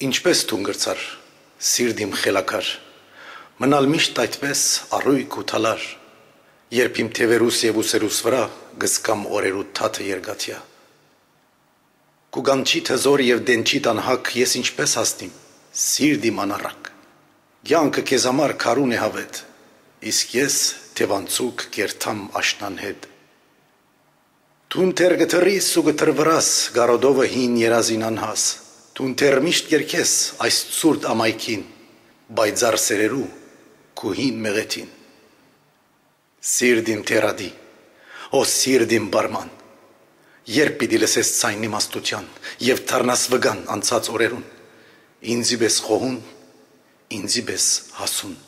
Ինչպես թուն գրցար, սիրտ իմ խելաքար, մնալ միշտ այդպես առույգ ու թալար, երբ իմ թևերուս և ուսերուս վրա գսկամ օրերու թաթը երգաթյա։ Կուգանչի թզոր և դենչի տանհակ ես ինչպես հասնիմ, սիրտ իմ անառակ, կյանքը քեզ համար քարուն է հավետ, իսկ ես թևանցուկ կերթամ աշնան հետ։ Թուն թեր գթրիս ու գթրվրաս գարոդովը հին երազին անհաս, թուն թեր միշտ կերքես այս ցուրտ ամայքին, բայձար սերերու քու հին մեղեթին։ Սիրտ իմ թերադի, ո սիրտ իմ բարման, երբ պիտի լսես ցայնի իմաստության և թարնաս վգան անցած օրերուն, ինձի պես խոհուն, ինձի պես հասուն։